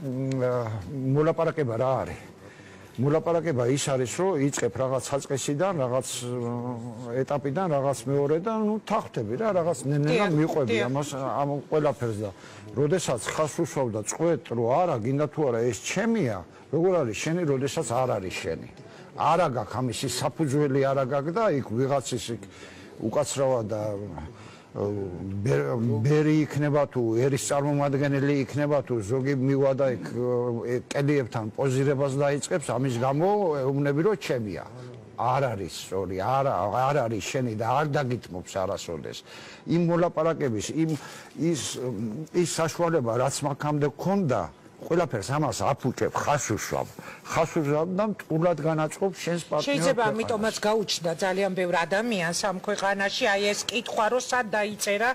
მოლაპარაკება რა არის? მოლაპარაკება ის არის, რომ იწყებ რაღაც საწყისიდან, რაღაც ეტაპიდან, რაღაც მეორედან, თახტები რა, რაღაც ნენა მიყვები ამ ყველაფერს და როდესაც ხას უსვავ და წყვეთ, რომ არა, გინდა თუ არა ეს ჩემია, როგორ არის შენი, როდესაც არ არის შენი. არა გაქვს ამისი საფუძველი არა გაქვს და იქ ვიღაცის უკაცრავა და ბერი იქნება თუ ერის წარმომადგენელი იქნება თუ ზოგი მივადა იქ კელიებთან პოზირებას დაიწყებს ამის გამო ეუბნები რომ ჩემია არ არის სწორი არ არის შენი და არ დაგიტმობს არასოდეს იმ მოლაპარაკების ის საშუალება რაც მაგამდე გქონდა ყველაფერს ამას აფუჭებ ხას უსვამ და მტყურად განაწყობს შენს პარტნიორს შეიძლება ამიტომაც გაუჩნდა ძალიან ბევრ ადამიანს ამ ქვეყანაში აი ეს კითხვა რომ სად დაიწერა